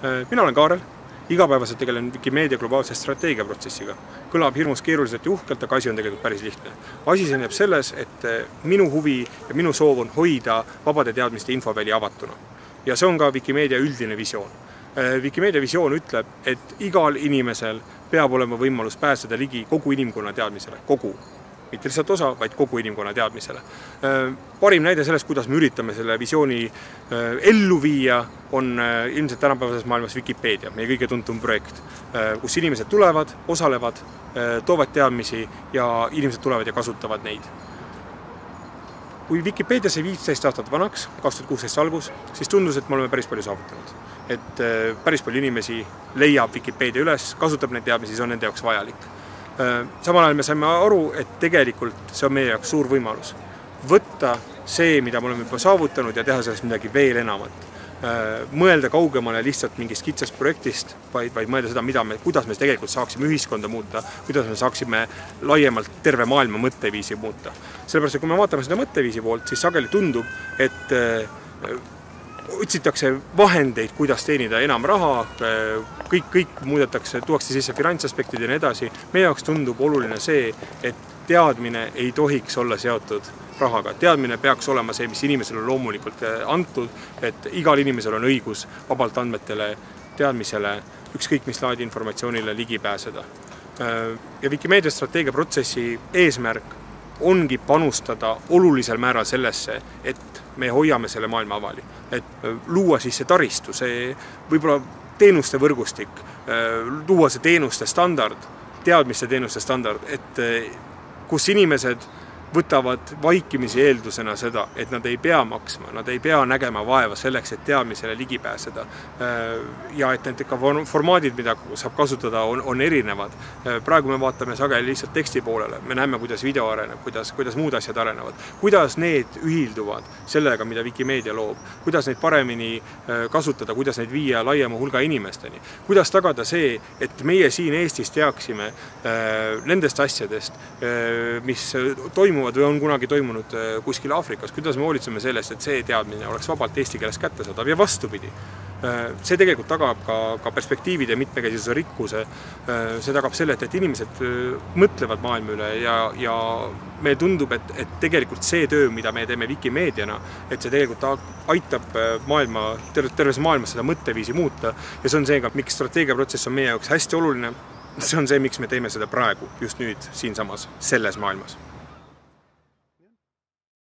Mina olen Kaarel, igapäevaselt tegelen Wikimeedia globaalse strateegiaprotsessiga. Kõlab hirmus keeruliselt ja uhkelt, aga asi on tegelikult päris lihtne. Asi seisneb selles, et minu huvi ja minu soov on hoida vabade teadmiste infoväli avatuna. Ja see on ka Wikimeedia üldine visioon. Wikimeedia visioon ütleb, et igal inimesel peab olema võimalus pääseda ligi kogu inimkonna teadmisele, mitte lihtsalt osa, vaid kogu inimkonna teadmisele. Parim näide sellest, kuidas me üritame selle visiooni ellu viia, on ilmselt tänapäevases maailmas Wikipedia, meie kõige tuntum projekt, kus inimesed tulevad, osalevad, toovad teadmisi ja inimesed tulevad ja kasutavad neid. Kui Wikipedia sai 15 aastat vanaks, 2016 algus, siis tundus, et me oleme päris palju saavutanud. Et päris palju inimesi leiab Wikipedia üles, kasutab neid teadmisi, see on nende jaoks vajalik. Samal ajal me saime aru, et tegelikult see on meie jaoks suur võimalus. Võtta see, mida me oleme juba saavutanud ja teha sellest midagi veel enamat. Mõelda kaugemale lihtsalt mingist kitsast projektist, vaid mõelda seda, kuidas me tegelikult saaksime ühiskonda muuta, kuidas me saaksime laiemalt terve maailma mõtteviisi muuta. Sellepärast, et kui me vaatame seda mõtteviisi poolt, siis sageli tundub, et otsitakse vahendeid, kuidas teenida enam raha, kõik muudetakse, tuuakse sisse finantsaspektid ja nii edasi. Meie jaoks tundub oluline see, et teadmine ei tohiks olla seotud rahaga. Teadmine peaks olema see, mis inimesele on loomulikult antud, et igal inimesel on õigus vabalt andmetele, teadmisele, ükskõik mis laadi informatsioonile ligi pääseda. Ja Wikimeedia strateegiaprotsessi eesmärk ongi panustada olulisel määral sellesse, et me hoiame selle maailma avali. Et luua siis see taristu, see võib-olla teenuste võrgustik, luua see teenuste standard, teadmiste teenuste standard, et kus inimesed võtavad vaikimisi eeldusena seda, et nad ei pea maksma, nad ei pea nägema vaeva selleks, et teadmisele ligi pääseda. Ja et need ka formaadid, mida saab kasutada, on erinevad. Praegu me vaatame sageli lihtsalt teksti poolele. Me näeme, kuidas video areneb, kuidas muud asjad arenevad. Kuidas need ühilduvad sellega, mida Wikimeedia loob. Kuidas neid paremini kasutada, kuidas neid viia laiema hulga inimesteni. Kuidas tagada see, et meie siin Eestis teaksime nendest asjadest, mis toimuvad või on kunagi toimunud kuskil Aafrikas, kuidas me hoolitseme sellest, et see teadmine oleks vabalt eesti keeles kättesaadav ja vastupidi. See tegelikult tagab ka perspektiivide mitmekesisuse rikkuse, see tagab selle, et inimesed mõtlevad maailma üle ja meil tundub, et tegelikult see töö, mida me teeme Wikimeediana, et see tegelikult aitab terves maailmas seda mõtteviisi muuta ja see on see, miks strateegiaprotsess on meie jaoks hästi oluline, see on see, miks me teeme seda praegu, just nüüd, siinsamas, selles maailmas.